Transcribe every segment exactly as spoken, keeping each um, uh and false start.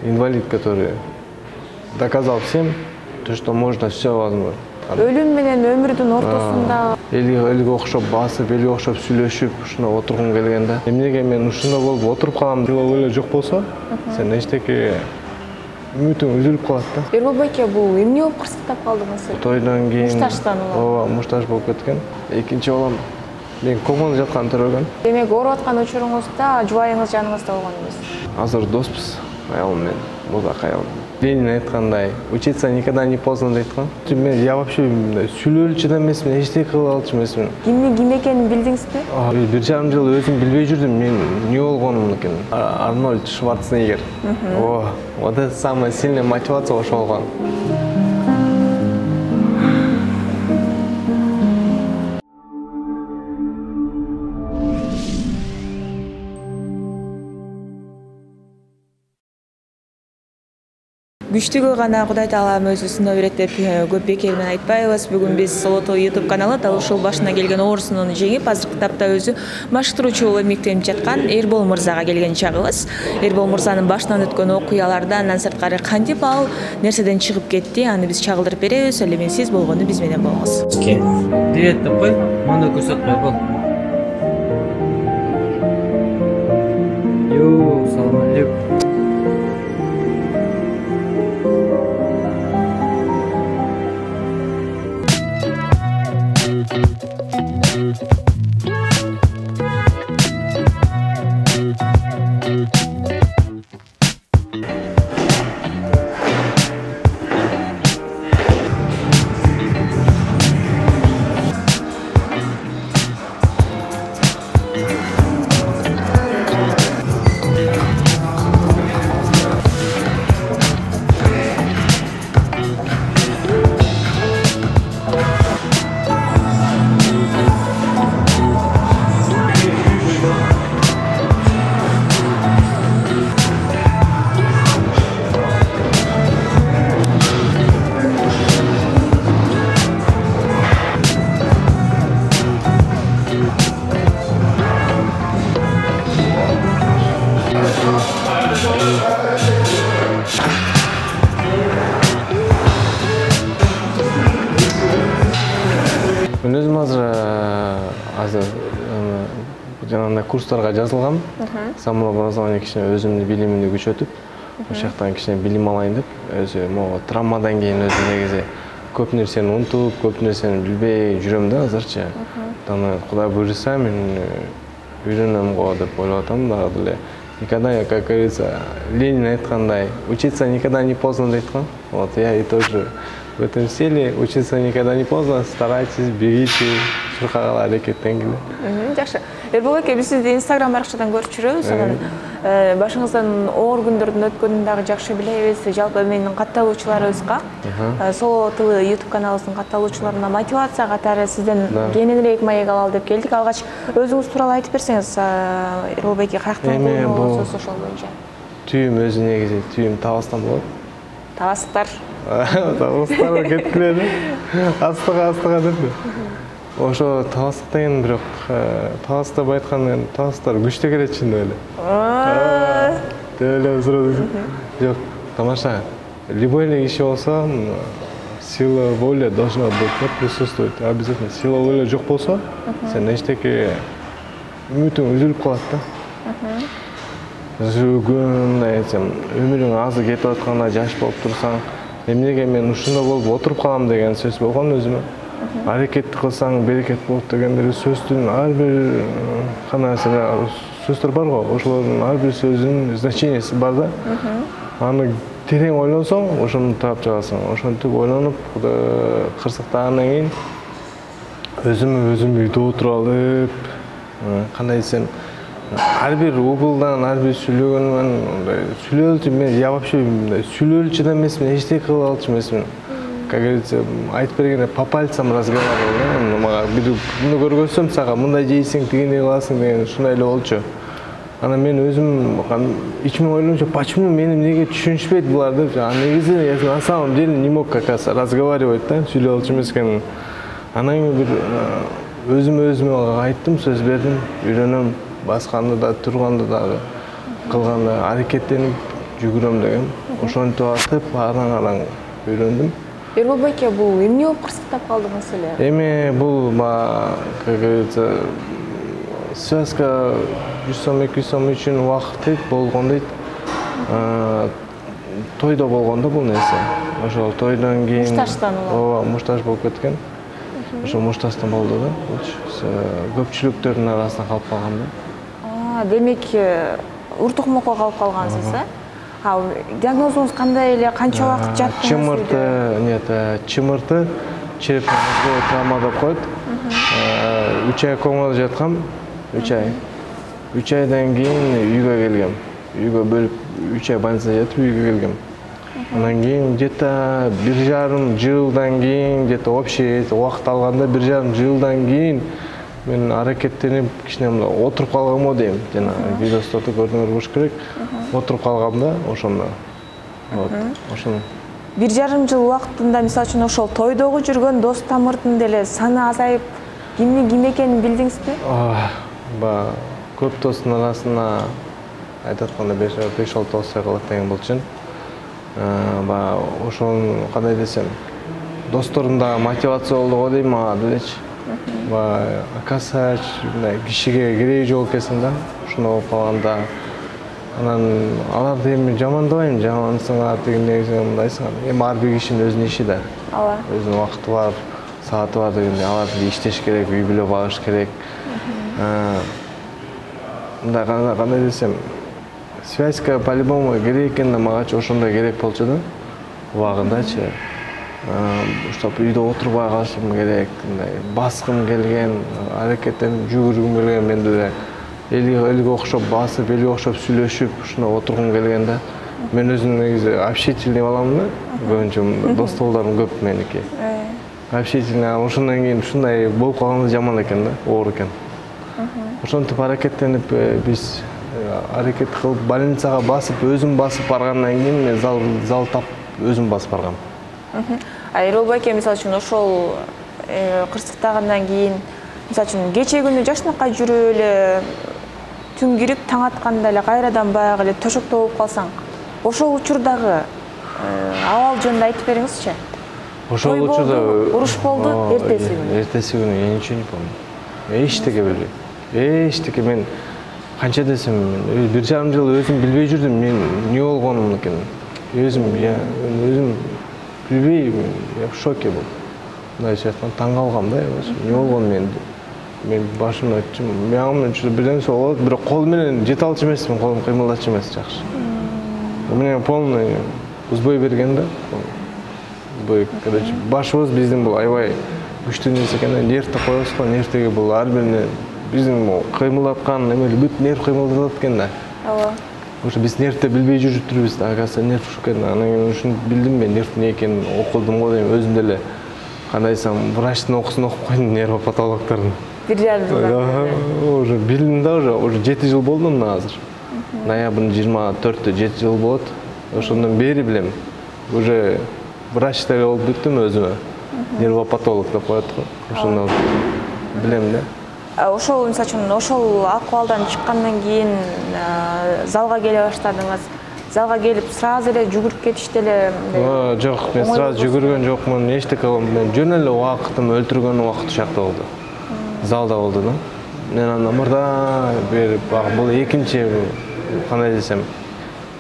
Инвалид, который доказал всем, то, что можно все возможно. Өлүм менен өмүрдүн ортосунда элге окшоп басып, элге окшоп сүйлөшүп, ушуна отургум келген да. Эмнеге мен ушунда болуп отуруп калам деп эле жок болсо, сен эчтеке үмүтүң үзүлүп калат да. Эрбол байке, бул эмне болуп кырсыктап калдыңыз? Тойдон кийин мушташтан улам. ооба, мушташ болуп кеткен. Экинчи балам мен коммуна жатканда төрөгөн. Демек, ооруп аткан учуруңузда жубайыңыз жаныңызда болгон эмес? Азыр доспуз, аялым менен, музак аялым. Ленин айткандай, учиться никогда не поздно дейткан. Мен я вообще сүйлөөлчү да эмесмин, эчтеке кыла алчу эмесмин. Кимдин ким экенин билдиңизби? Бир жарым жыл өзүм билбей жүрдүм, мен эмне болгонумду экен. Арнольд Шварценеггер. О, вот это самая сильная мотивация ошол болгон. Күчтүгө гана Кудай Таалам өзү сыноо берет деп көп бекер менен айтпайбыз. Бүгүн биз Солото YouTube каналы дал ушул башына келген оорусунун жеңип, азыркы тапта өзү машыктыруучу болуп эмгектенип жаткан Эрбол мырзага келген чагыбыз. Эрбол мырзанын башынан өткөн окуялардан андан сырткары кантип ал нерседен чыгып кетти, аны биз чагылдырып беребиз. Эле мен сиз болгону биз менен болуңуз. Привет деп кой, мында көрсөт кой бол. Йоо, салам алейкум. Мен өзүм азыр азыр жанагындай курстарга жазылгам. Самообразование кичине өзүмдүн билимимди күчөтүп, ошол жактан кичине билим алайын деп, өзү могу травмадан кийин өзү негизи көп нерсени унутуп, көп нерсени билбей жүрөм да азырчы. Аны Кудай буйруса мен үйрөнөм го деп ойлоп атам дагы деле. Никогда, как говорится, Ленин айткандай, учиться никогда не поздно дейткан. Вот я и тоже в этом стиле. Учиться никогда не поздно, старайтесь, бегите, чуркагала аракеттенгиле. Жакшы. Эрбол байке, биз сизди Instagram баракчадан көрүп жүрөбүз. Анан башыңыздан оор күндөрдүн өткөнүн дагы жакшы билебиз. Жалпы менин катталуучуларыбызга Соло тылы YouTube каналыбыздын катталуучуларына мотивация катары сизден кененирээк маек алалы деп келдик. Алгач өзүңүз тууралуу айтып берсеңиз, Эрбол байке каяктан болсоңуз ошол боюнча. Түйүм өзү негизи түйүм табастан болот. Табастар. Табастар кетип келеди. Астыга астыга деп. Ошо табастык деген бирок табастап айтканда табастар күчтүү келет чындап эле. Деп эле сурады. Жок, тамаша. Любой эле киши болсо, сила воли должна быть присутствовать. Обязательно. Сила воли жок болсо, сен эчтеке үмүтүң үзүлүп калат да. Күн айтсам, өмүрүң азыр кетип атканда жаш болуп турсаң, эмнеге мен ушунда болуп отуруп калам деген сөз болгон өзүмө. Аракет кылсаң берекет болот дегендер сөздүн ар бир канаасы сөздөр бар го, ошолордун ар бир сөзүнүн значениясы бар да. Аны терең ойлонсоң, ошону таап чыгасың. Ошентип ойлонуп, кырсыктагандан кийин өзүмө өзүм үйдө отуруп алып, кандай десем, ар бир углдан, ар бир сүйлөгөнүмөн сүйлөөлчү мен я вообще сүйлөөлчү да эмесмин, эчтеке кыла алчу эмесмин. Как говорится, айтып бергенде по пальцам разговаривал. Мага бир муну көргөзсөм, сага мындай жейсиң, тигиндей кыласың деген ушундай эле болчу. Анан мен өзүм ичиме ойлончу, почему мени эмнеге түшүнүшпөйт булар деп. А негизи я на самом деле не мог как раз разговаривать, да, сүйлөй алчу эмес экенмин. Анан кийин бир өзүм өзүмө айттым, сөз бердим, үйрөнөм, басканды да, турганды дагы, кылганды, аракеттенип жүгүрөм дегем. Ошентип атып араң-араң үйрөндүм. Эрбол байке, бул эмне болуп кырсыктап калдыңыз эле? Эми бул, как говорится, связка жүз сом эки жүз сом үчүн убакыт дейт, болгон дейт. Тойдо болгондо бул нерсе. Ошол тойдон кийин мушташтан ооба, мушташ болуп кеткен. Ошо мушташтан болду да. Көпчүлүктөрдүн арасында калып калгам да. Демек, уртукмокко калып калгансыз, э? А диагнозуңуз кандай эле, канча убакыт жаттыңыз? Чымырты, нет, чымырты, черепный мозговой травма деп коет. үч ай комада жаткам, үч ай. үч айдан кийин үйгө келгем. Үйгө бөлүп үч ай больницада жатып үйгө келгем. Андан кийин где-то бир жарым жылдан кийин, где-то общий убакыт алганда бир жарым жылдан кийин мен аракеттенип кичине мындай отуруп калганмы дейм. Жана видеосторду көрдүңөр болуш керек. Отуруп калгам да, ошондо. Вот, ошону. Бир жарым жыл убактында, мисалы үчүн, ошол тойдогу жүргөн дос тамырдын деле саны азайып, кимдин ким экенин билдиңизби? Ба, көп достун арасында айтып атканда беш алты достой калат деген болчу. Ба, ошон кандай десем, досторум да мотивация болду го дейм ага делечи. Ба, акасач, мындай кишиге кереги жок экенсиң да, ошондой болуп калганда. Анан аларды эми жамандабайм, жамансыңар дегендей мындайсың. Эми ар бир кишинин өзүнүн иши да. Ооба. Өзүнүн убакыты бар, сааты бар дегендей, алар иштеш керек, үй бүлө багыш керек. Мындай кандай десем, связка по-любому керек экен да, магачы ошондой керек болчу да. Убагындачы. Чтоб үйдө отурбай калышым керек, мындай баскым келген, аракеттенип жүгүргүм келген, мен деле элге окшоп басып, элге окшоп сүйлөшүп, ушуна отургум келген да. Мен өзүм негизи общительный баламын да. Көбүнчө достордорум көп меники. Общительный, ошондон кийин ушундай болуп калганда жаман экен да, оор экен. Ошентип аракеттенип биз аракет кылып больницага басып, өзүм басып баргандан кийин мен зал зал тапып өзүм басып баргам. А Эрбол байке, мисалы үчүн, ошол кырсыктагандан кийин, мисалы үчүн, кече күнү жашнакка жүрүп эле түн кирип таң атканда эле кайрадан баягы эле төшөктө болуп калсаң, ошол учурдагы абал жөнүндө айтып бериңизчи. Ошол учурда уруш болду, эртеси күнү. Эртеси күнү я ничего не помню. Эчтеке билбейм. Эчтеке мен канча десем, бир жарым жыл өзүм билбей жүрдүм, мен эмне болгонум экенин. Өзүм я өзүм билбейм, я в шоке болдум. Мындайча айтканда таң калгам да, эмне болгон мен. Мен башымда мягымын үчүн бир нерсе болот, бирок кол менен жете алчу эмесмин, колум кыймылдачу эмес жакшы. Мен полный узбой берген да. Узбой, короче, башыбыз биздин бул аябай күчтүү нерсе экен да, нервти коебуз го, нервтеги бул ар бирине биздин кыймылдаткан эме бүт нерв кыймылдатат экен да. Ооба. Ошо биз нервте билбей жүрүптүрбүз да, оказывается нерв ушу экен. Анан кийин ушуну билдим мен, нерв эмне экенин окудум го дейм, өзүм деле кандай десем, врачтын окуусун окуп койдум, нервопатологдордун. Бир жарым жылдан. Уже билдим да, уже уже жети жыл болду мына азыр. Ноябрдын жыйырма төртү жети жыл болот. Ошондон бери билем. Уже врач деле болуп бүттүм өзүмө. Нервопатолог деп коет го. Ошондон билем да. Ошол, мисалы үчүн, ошол акыбалдан чыккандан кийин залга келе баштадыңыз. Залга келип сразу эле жүгүрүп кетишти эле. Жок, мен сразу жүгүргөн жокмун. Эчтеке мен жөн эле убактым өлтүргөн убакыт ушакта болду. Залда болду да. Мен анда мырда берип, бул экинчи кандай десем,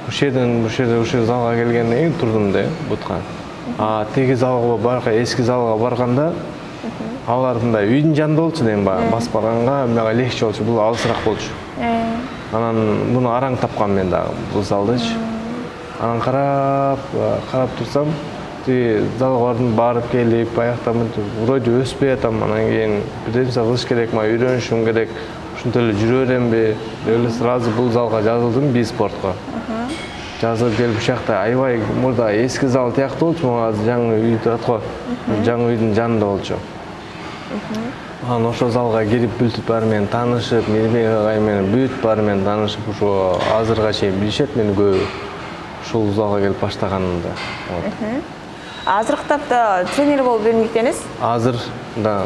ушул жерден ушул жерде ушул залга келгенден кийин турдум да, бутка. А теги залга барга, эски залга барганда алар мындай үйдүн жанында болчу дейм, басып барганга мага легче болчу, бул алысыраак болчу. Анан муну араң тапкам мен дагы бул залдычы. Анан карап, карап турсам, тиги залга бардым, барып келип, аяктан вроде өспөй атам, анан кийин бир нерсе кылыш керек, мага үйрөнүшүм керек, ушинтип эле жүрө беремби деп эле сразу бул залга жазылдым, биспортко. Жазылып келип ушакта аябай мурда эски зал тияктуу болчу, мага азыр жаңы үй турат го, жаңы үйдүн жанында болчу. Анан ошол залга кирип бүт баары менен таанышып, Мирбек агай менен бүт баары менен таанышып, ошо азырга чейин билишет мени көбү. Ушул залга келип баштаганымда. Азыркы тапта тренер болуп эмгектенесиз? Азыр да.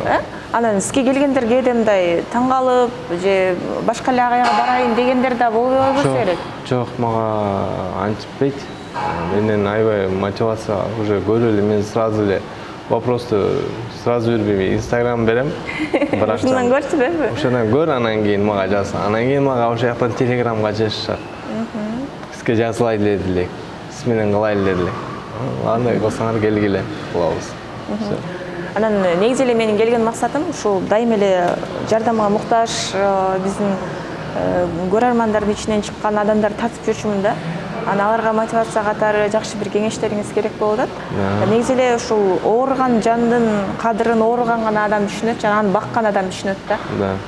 Анан сизге келгендер кээде мындай таң калып же башка эле агайга барайын дегендер да болбой койбосо керек. Жок, мага антиппейт. Менден аябай мотивация уже көрүп эле мен сразу эле вопросту сразу бербейм, инстаграм берем. Ушундан көрчү депи? Ошондон көр, анан кийин мага жаз. Анан кийин мага ошол жактан телеграмга жазышат. Сизге жазылай эле делек, сиз менен кылай эле делек. Андай кылсаңар келгиле, кылабыз. Анан негизи эле менин келген максатым ушул дайыма эле жардамга муктаж биздин көрөрмандардын ичинен чыккан адамдарды тартып жүрчүмүн да. Анан аларга мотивация катары жакшы бир кеңештериңиз керек болуп атат. Негизи эле ушул ооруган жандын кадырын ооруган гана адам түшүнөт, жана аны баккан адам түшүнөт да.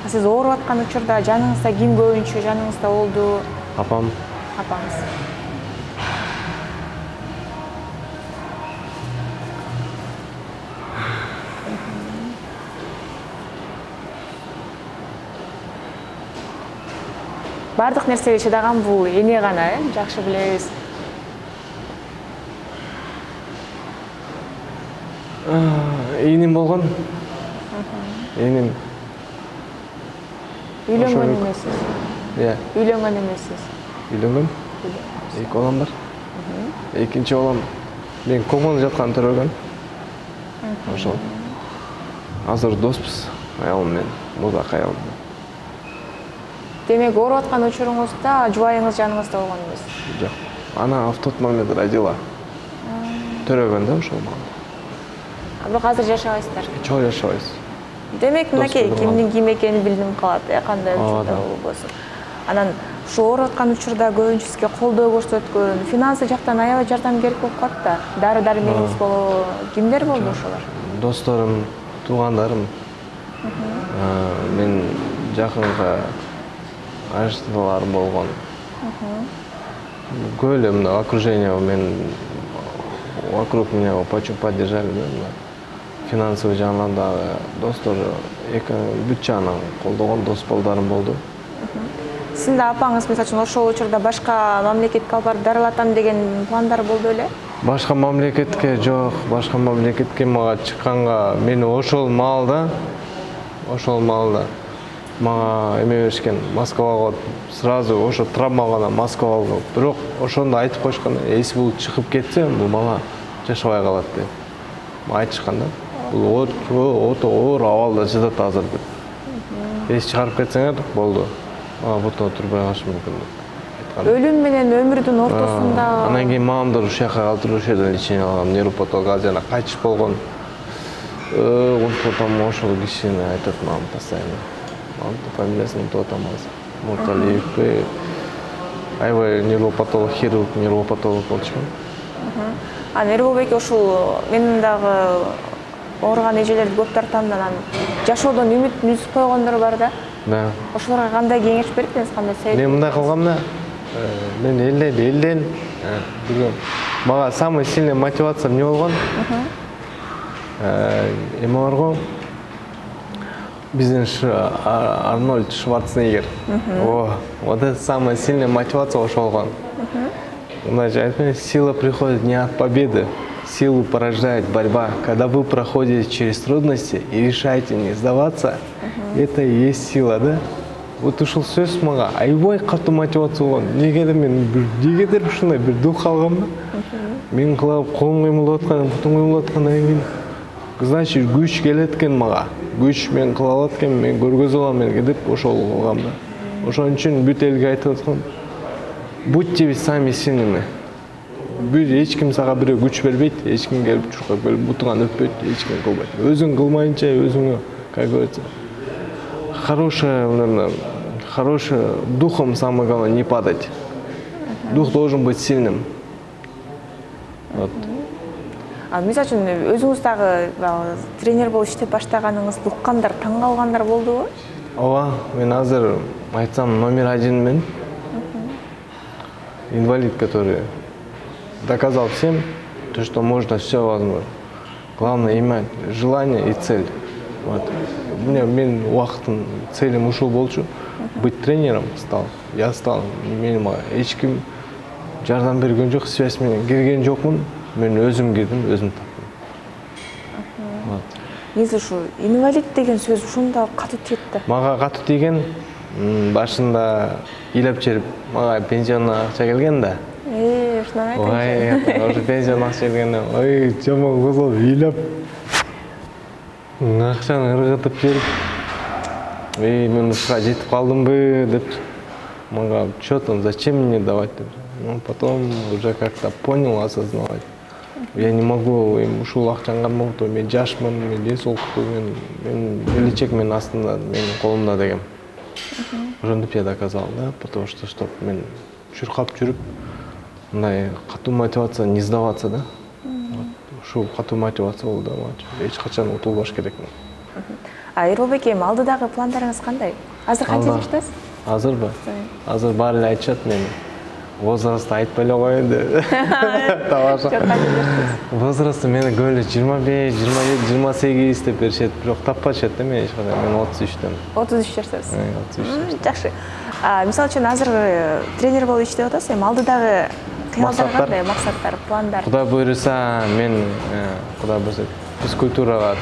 Сиз ооруп аткан учурда жаныңызда ким көбүнчө жаныңызда болду? Апам. Апаңыз. Бардык нерсеге чыдаган бул эне гана, э, жакшы билебиз. Энем болгон. Энем. Үйлөнгөн эмессиз. Иә. Үйлөнгөн эмессиз. Үйлөнгөн. Эки балам бар. Экинчи балам мен коммуна жаткан төрөгөн. Ошол. Азыр доспуз. Аялым мен, музак аялым. Демек, ооруп аткан учуруңузда жубайыңыз жаныңызда болгон эмес? Жок. Ана в тот момент родила. Төрөгөн да ошол мага. Бирок азыр жашабайсыздар. Чоң жашабайбыз. Демек, мынакей кимдин ким экенин билдим калат, э, кандай учурда болбосун. Анан ушу ооруп аткан учурда көбүнчө сизге колдоо көрсөткөн, финансы жактан аябай жардамгердик болуп калат да. Дары-дармегиңиз болобу, кимдер болду ошолор? Досторум, туугандарым. Мен жакынга ажыктууларым болгон. Көп эле мына окружение мен вокруг меня очень поддержали, да. Финансовый жагынан дагы достор эки бүт жагынан колдогон дос балдарым болду. Сиздин да апаңыз мисалы үчүн ошол учурда башка мамлекетке алып барып дарылатам деген пландар болду беле? Башка мамлекетке жок, башка мамлекетке мага чыкканга мени ошол маалда, ошол маалда мага эме беришкен, Москвага сразу ошо травмага Москвага, бирок ошондо айтып коюшкан, эси бул чыгып кетсе, бул бала жашабай калат деп айтышкан да. Бул ото оор абалда жатат азыр деп. Эси чыгарып кетсеңер болду. Ага бутта отурбай калышы мүмкүн деп айткан. Өлүм менен өмүрдүн ортосунда. Анан кийин мамамдар ушул жака калтырып ошол жерден лечение алган, нейропатолог жана кайтыш болгон. Э, унутуп атам ошол кишини айтат мамам постоянно. Мамам фамилиясын унутуп атам азыр. Мурталиев. Аябай нейропатолог, хирург, нейропатолог болчумун. А Нерболбек ушул мен дагы ооруган эжелерди көп тартам да, анан жашоодон үмүтүн үзүп койгондор бар да. Да. Ошолорго кандай кеңеш бересиз, кандай совет? Мен мындай кылгам да. Мен элден элден билем. Мага самый сильный мотивация эмне болгон? Э, эме барго. Биздин Арнольд Шварценеггер. О, вот это самая сильная мотивация ошол болгон. Значит, сила приходит не от победы, силу порождает борьба. Когда вы проходите через трудности и решаете не сдаваться, это и есть сила, да? Вот ушул сөз мага аябай катуу мотивация болгон. Негедир мен негедир ушундай бир дух алгам да. Мен кылып колум кыймылдап аткан, бутум кыймылдап аткандан кийин, значит, күч келет экен мага. Күч мен кыла алат экен, мен көргөзө алам мен деп ошол кылгам да. Ошон үчүн бүт элге айтып аткам. Будьте сами сильными. Эч ким сага бирөө күч бербейт, эч ким келип чуркап келип бутуңан өппөйт, эч ким кылбайт. Өзүң кылмайынча өзүңө, как говорится, хорошее, хороший духом самое главное не падать. Дух должен быть сильным. Вот. А мисалы үчүн өзүңүз дагы тренер болуп иштеп баштаганыңызды уккандар, таң калгандар болдубу? Ооба, мен азыр айтсам номер один мен. Инвалид, который доказал всем, то, что можно все возможно. Главное иметь желание и цель. Вот. У меня мен уақытым целим ушул болчу. Быть тренером стал. Я стал. Менин эч ким жардам берген жок, связь менен кирген жокмун. Мен өзүм кирдим, өзүм таптым. Вот. негизи ушу инвалид деген сөз ушунда катуу тиет да. Мага катуу тийген, башында ыйлап чыгып мага пенсион акча келген да. Э, ушундан айтыңчы. Ой, ошо пенсион акча келгенде, ой, жаман козгоп ыйлап акчаны ыргытып берип, эй, мен ушуга жетип калдымбы деп, мага чё там, зачем мне давать деп. Ну, потом уже как-то понял, осознавать. Я не могу им ушул акчаны кармоктоо, мен жашмын, мен эс окутуу, мен мен келечек менин астында, менин колумда деген. Ошентип я доказал, да, потому что чтоб мен чуркап жүрүп, мындай катуу мотивация не сдаваться, да. Ушул катуу мотивация болду да, эч качан утулбаш керекмин. А Эрболбек эми алдыдагы пландарыңыз кандай? Азыр канча жаштасыз? Азырбы? Азыр баары эле айтышат мени. Возрастты айтпай эле коеюн деп. Тамаша. Возрастты мени көп эле жыйырма беш, жыйырма жети, жыйырма сегиз деп беришет, бирок таппашат да мени эч кандай. Мен отуз үчтөн. отуз үч жаштасыз. отуз үч. Жакшы. А мисалы үчүн азыр тренер болуп иштеп атасыз, эми алдыдагы кыялдар кандай, максаттар, пландар? Кудай буйруса, мен Кудай буйруса физкультурага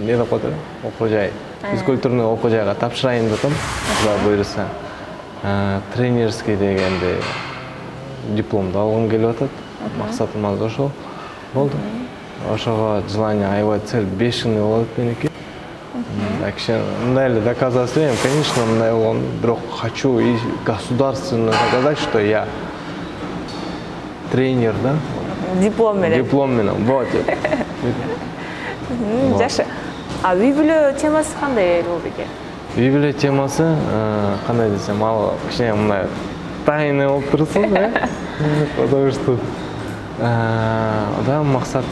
не деп коет, окуу жай. Физкультурный окуу жайга тапшырайын деп атам. Кудай буйруса. Тренерский дегенде дипломду алгым келип атат. Максатым азыр ошол болду. Ошого желание, аябай цель бешеный болот меники. Так что мындай эле доказать этем, конечно, мындай болгон, бирок хочу и государственно доказать, что я тренер, да? Диплом менен. Диплом менен. Вот. Жакшы. А үй бүлө темасы кандай Эрболбек? Үй бүлө темасы кандай десем, ал кичине мындай тайный болуп турсун, э? Потому что да, максат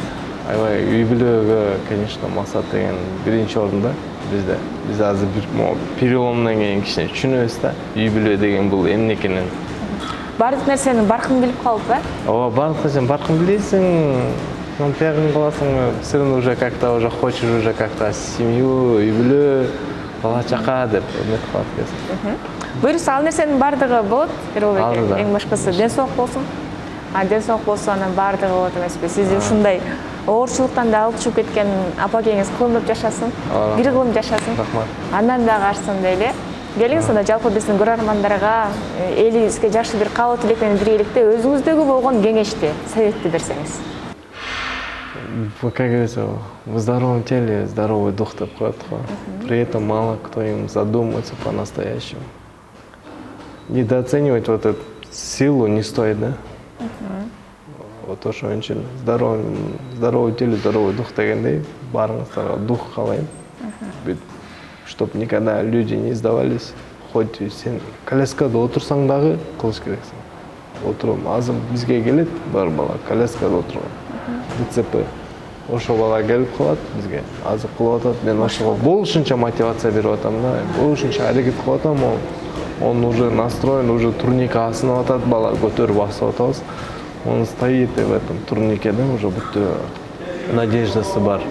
аябай үй бүлөгө, конечно, максат деген биринчи орунда бизде. Биз азыр бир переломдон кийин кичине түшүнөбүз да, үй бүлө деген бул эмне экенин. Бардык нерсенин баркын билип калып, э? Ооба, бардык нерсени баркын билесиң, тиягын кыласың, все равно уже как-то уже хочешь уже как-то семью, үй бүлө, бала чака деп үмүт кылат экенсиң. Буюрса ал нерсенин бардыгы болот, Эрболбек, эң башкысы ден соолук болсун. А ден соолук болсо анан бардыгы болот эмеспи? Сиз ушундай оорчулуктан да алып чыгып кеткен апа-кеңиз кылымдап жашасын, бир кылым жашасын. Рахмат. Андан дагы арсын дейли. Келиңиз анда жалпы биздин көрөрмандарга элибизге жакшы бир каалоо тилек менен биргеликте өзүңүздөгү болгон кеңешти, советти берсеңиз. Как говорится, в здоровом теле здоровый дух деп коет го. При этом мало кто им задумывается по-настоящему. Недооценивать вот эту силу не стоит, да? Вот ошо үчүн здоровый здоровый теле здоровый дух дегендей баарыңыздарга дух каалайм. Чтоб никогда люди не сдавались. Хоть сен коляскада отурсаң дагы кылыш керексиң. Отурум, азыр бизге келет бар бала коляскада отурган. ДЦП. Ошо бала келип калат бизге. Азыр кылып атат. Мен ошого болушунча мотивация берип атам да. Болушунча аракет кылып атам. Он уже настроен, уже турник асынып атат, бала көтөрүп басып атабыз. Он стоит в этом турнике, да, уже будто надеждасы бар.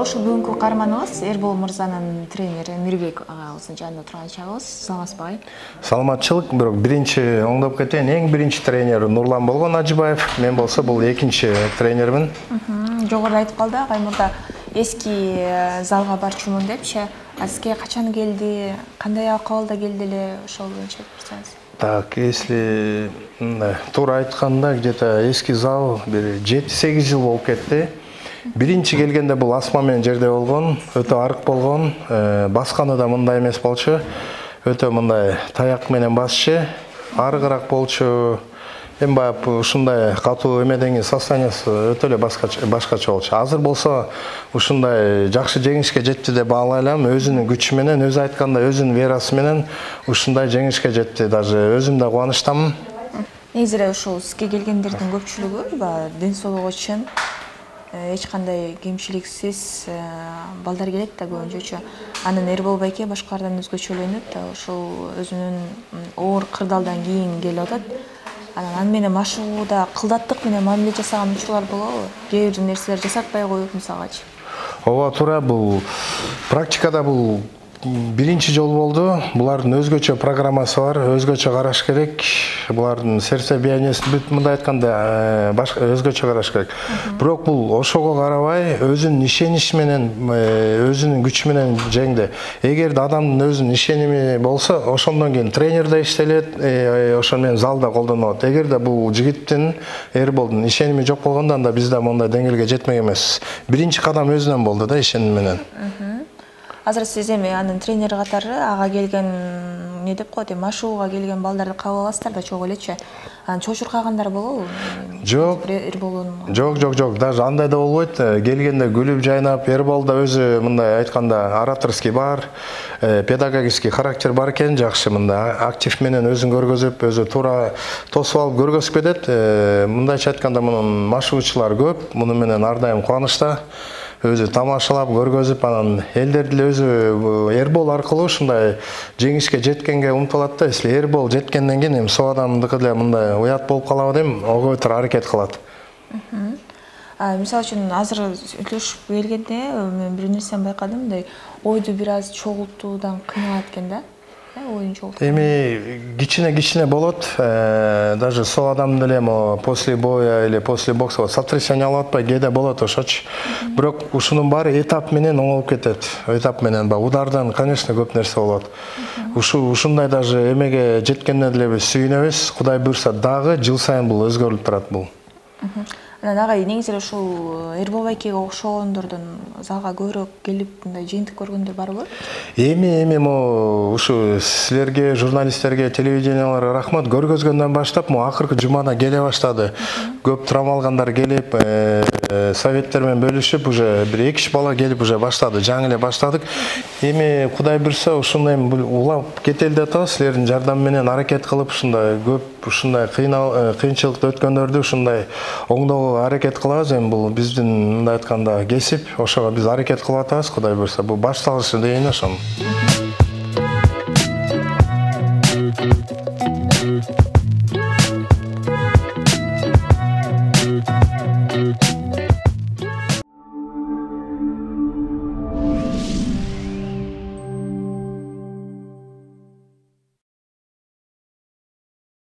Ошол бүгүнкү каарманыбыз Эрбол мырзанын тренери Мирбек агабыздын жанында турган чагыбыз. Саламатсызбы агай? Саламатчылык, бирок биринчи оңдоп кетейин. Эң биринчи тренер Нурлан болгон Ажыбаев. Мен болсо бул экинчи тренермин. Жогоруда айтып калды агай мурда эски залга барчумун депчи. А сизге качан келди? Кандай акыбалда келди эле? Ошол боюнча айтсаңыз. Так, если туура айтканда, где-то эски зал бир жети сегиз жыл болуп кетти. Биринчи келгенде бул асма менен жерде болгон, өтө арык болгон, басканы да мындай эмес болчу. Өтө мындай таяк менен басчы, арыгыраак болчу. Эми баягы ушундай катуу эмеден состояниясы өтө эле башкача болчу. Азыр болсо ушундай жакшы жеңишке жетти деп баалайлам. Өзүнүн күчү менен, өзү айткандай өзүнүн верасы менен ушундай жеңишке жетти. Даже өзүм да кубанычтамын. Негизи эле ушул сизге келгендердин көпчүлүгү баягы ден соолугу үчүн эч кандай кемчиликсиз балдар келет да көбүнчөчү. Анан Эрбол байке башкалардан өзгөчөлөнөт да, ошол өзүнүн оор кырдаалдан кийин келип атат. Анан аны менен машыгууда кылдаттык менен мамиле жасаган учурлар болобу? Кээ бир нерселер жасатпай коюп мисалгачы. Ооба туура, бул практикада бул биринчи жол болду. Булардын өзгөчө программасы бар, өзгөчө караш керек. Булардын сердце биянесин бүт мындай айтканда башка өзгөчө караш керек. Бирок бул ошого карабай өзүнүн ишеничи менен, өзүнүн күчү менен жеңди. Эгерде адамдын өзүнүн ишеними болсо, ошондон кийин тренер да иштелет, ошол менен залда колдонулат. Эгерде бул жигиттин, Эрболдун ишеними жок болгондо, анда биз да мондай деңгээлге жетмек эмеспиз. Биринчи кадам өзүнөн болду да, ишеним менен. Азыр сиз эми анын тренери катары ага келген не деп коет, машыгууга келген балдарды кабыл аласыздар да чогуу элечи. Анан чочуркагандар болобу? Жок. Эрболдун. Жок, жок, жок. Даже андай да болбойт. Келгенде күлүп жайнап, Эрбол да өзү мындай айтканда ораторский бар, педагогический характер бар экен, жакшы мындай актив менен өзүн көргөзүп, өзү туура тосуп алып көргөзүп кетет. Мындайча айтканда мунун машыгуучулары көп, муну менен ар дайым кубанычта. Өзү тамашалап көргөзүп, анан элдер деле өзү Эрбол аркылуу ушундай жеңишке жеткенге умтулат да. Если Эрбол жеткенден кийин эми со адамдыкы деле мындай уят болуп калабы дейм, ого бетер аракет кылат. Мисалы үчүн азыр сүйлөшүп келгенде мен бир нерсени байкадым, мындай ойду бир аз чогултуудан кыйналат экен да. Эми кичине-кичине болот. Даже со адам деле после боя или после бокса сотрясение алып атпай кээде болот ошочу. Бирок ушунун баары этап менен оңолуп кетет. Этап менен ба удардан, конечно, көп нерсе болот. Ушу ушундай даже эмеге жеткенде деле биз сүйүнөбүз. Кудай буйрса дагы жыл сайын бул өзгөрүлүп турат бул. Анан агай негизи эле ушул Эрбол байкеге окшогондордон залга көбүрөөк келип мындай жыйынтык көргөндөр барбы? Эми эми мо ушу силерге, журналисттерге, телевиденияларга рахмат. Көргөзгөндөн баштап мо акыркы жумада келе баштады. Көп травма алгандар келип, советтер менен бөлүшүп, уже бир эки үч бала келип уже баштады. Жаңы эле баштадык. Эми Кудай буйрса ушундай улап кетели деп атабыз. Силердин жардам менен аракет кылып, ушундай көп ушундай кыйынчылыкты өткөндөрдү ушундай оңдоого аракет кылабыз. Эми бул биздин мындай айтканда кесип, ошого биз аракет кылып атабыз. Кудай буйрса бул башталышы дейин ошону.